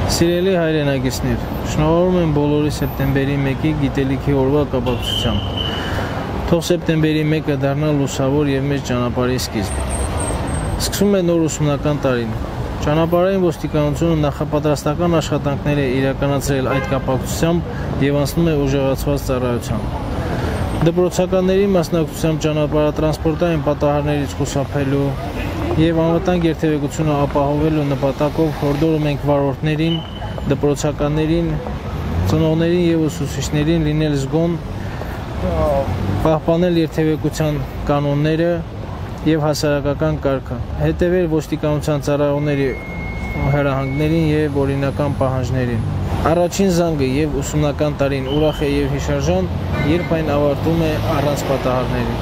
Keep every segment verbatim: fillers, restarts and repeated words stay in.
Սիրելի հայրենակիցներ, շնորհավորում եմ բոլորի սեպտեմբերի մեկի գիտելիքի օրվա կապակցությամբ։ Թող սեպտեմբերի մեկը դառնա լուսավոր և մեծ ճանապարհի սկիզբ։ Սկսում է նոր ուսումնական տարին։ Ճանապարհային ոստիկանությունը նախապատրաստական աշխատանքներ է իրականացրել այդ կապակցությամբ և անցնում է ուժեղացված ծառայության։ Դպրոցականների մասնակցությամբ ճանապարհատրանսպորտային պատահարներից խուսափելու և անվտանգ երթևեկությունը ապահովելու նպատակով հորդորում ենք վարորդներին, դպրոցականներին, ծնողներին և ուսուցիչներին լինել զգոն, պահպանել երթևեկության կանոնները և հասարակական կարգը, հետևել ոստիկանության ծառայողների հրահանգներին և օրինական պահանջներին։ Առաջին զանգը և ուսումնական տարին ուրախ է և հիշարժան, երբ այն ավարտվում է առանց պատահարների։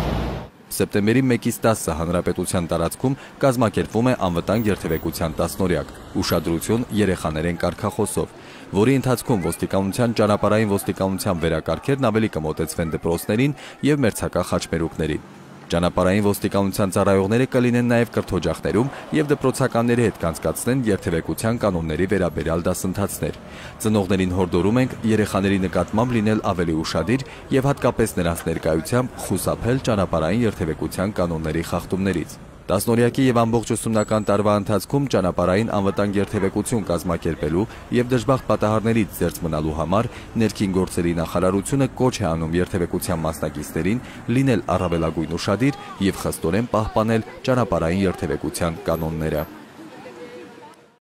Սեպտեմբերի մեկից տասը հանրապետության տարածքում կազմակերպվում է անվտանգ երթևեկության տասնօրյակ, ուշադրություն երեխաներին կարգախոսով, որի ընթացքում ոստիկանության ճանապարհային ոստիկանության վերակարգերն ավելի կմոտեցվեն դպրոցներին և մերձակա խաչմերուկներին։ Ճանապարհային ոստիկանության ծառայողները կլինեն նաև կրթօջախներում և դպրոցականների հետ կանցկացնեն երթևեկության կանոնների վերաբերյալ դասընթացներ։ Ծնողներին հորդորում ենք երեխաների նկատմամբ լինել ավելի ուշադիր և հատկապես նրանց ներկայությամբ խուսափել ճանապարհային երթևեկության կանոնների խախտումներից։ Տասնօրյակի և ամբողջ ուսումնական տարվա ընթացքում ճանապարհային անվտանգ երթևեկություն կազմակերպելու և դժբախտ պատահարներից զերծ մնալու համար ներքին գործերի նախարարությունը կոչ է անում երթևեկության մասնակիցներին լինել առավելագույն ուշադիր և խստորեն պահպանել ճանապարհային երթևեկության կանոնները։